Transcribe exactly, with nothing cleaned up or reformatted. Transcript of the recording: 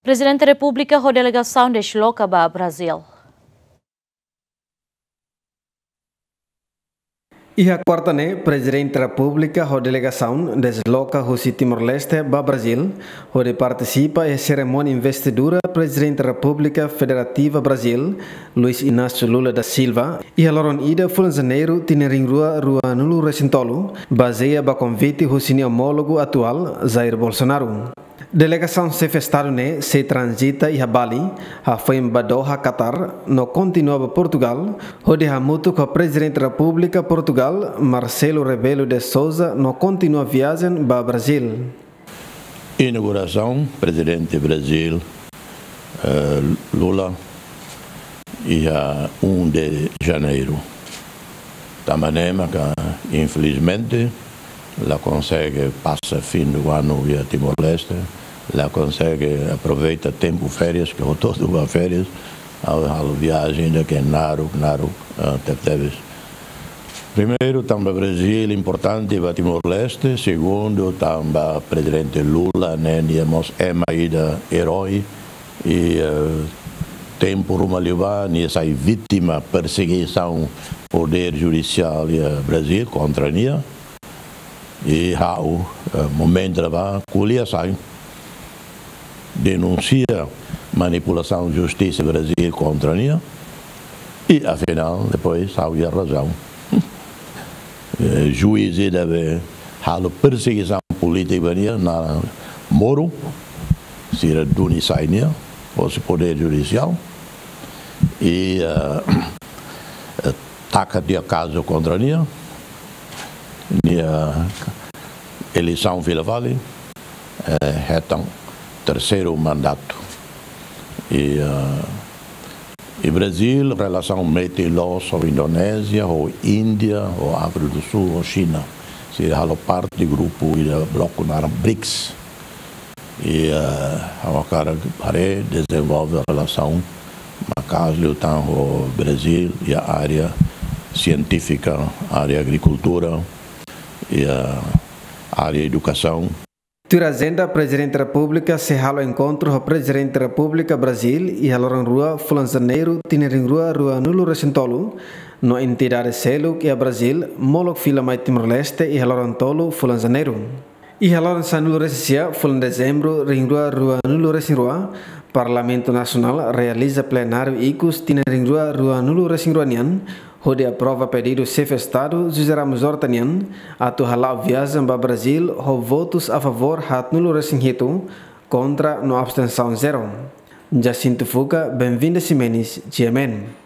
Prezidente Repúblika ho delegasaun desloka ba Brazíl. Iha kuarta ne'e, Prezidente Repúblika ho delegasaun desloka husi Timor-Leste ba Brazíl, hodi partisipa iha serimónia investidura Prezidente Repúblika Federativa Brazíl, Luiz Inácio Lula da Silva, iha loron ida fulan Janeiru tinan rihun rua ruanulu resin tolu, bazeia ba konvite husi nia omólogu atuál, Jair Bolsonaro. Delegasaun Xefe Estadu ne'e sei tranzita iha Bali, hafoin ba Doha, Qatar, no kontinua ba Portugal, hodi hamutuk ho Prezidente Repúblika Portugal, Marcelo Rebelo de Sousa, no kontinua viajen ba Brazíl. Inaugurasaun Prezidente Brazíl, eh, Lula, iha um de Janeiro. Tanba ne'e maka, infelizmente, la konsege pasa fim do ano iha Timor-Leste, la konsege aproveita tempu férias, ke hotu-hotu ba férias, ha'u halo viajen ida ke naruk, naruk, ah, tebetebes. Primeiru, tanba Brazíl importante ba Timor-Leste. Segundu, tanba Prezidente Lula ne'e nia mós ema ida erói, i, eh, tempu ruma liubá nia sai vítima persegisaun podér judisiál iha Brazíl kontra nia. I ha'u, eh, momentu ne'ebá ko'alia sai, denunsia manipulasaun justisa Brazíl kontra nia. I afinál, depois, ha'u iha razaun. Eh, juís ida be halo persegisaun polítika ba nia, naran Moro, sira duni sai nia hosi podér judisiál. I, eh, eh, taka tiha kazu kontra nia, nia eleisaun fila fali, eh, hetan terseiru mandatu. I, eh, i Brazíl, relasaun metin loos ho Indonézia, ho Índia, ho Áfrika do Sul, ho Xina. Sira halo parte grupu ida bloku naran briks. I, eh, ha'u hakarak haree dezenvolve relasaun maka'as liután ho Brazíl iha área sientífika, área agrikultura, iha área edukasaun. Tuir ajenda, Prezidente Repúblika sei halo enkontru ho Prezidente Repúblika Brazíl iha loron rua fulan Janeiru tinan rihun rua ruanulu resin tolu, no entidade seluk iha Brazíl molok fila mai Timor-Leste iha loron tolu fulan Janeiru. Iha loron sanulu resin sia fulan Dezembru rihun rua ruanulu resin rua, Parlamentu Nasionál realiza plenáriu ikus tinan rihun rua ruanulu resin rua nian, hodi aprova pedidu Xefe Estadu José Ramos Horta nian atu hala'o viajen ba Brazíl ho votus a favór haatnulu resin hitu, kontra no abstensaun zero. Jacinto Fuca, Benvinda Ximenes, G M N.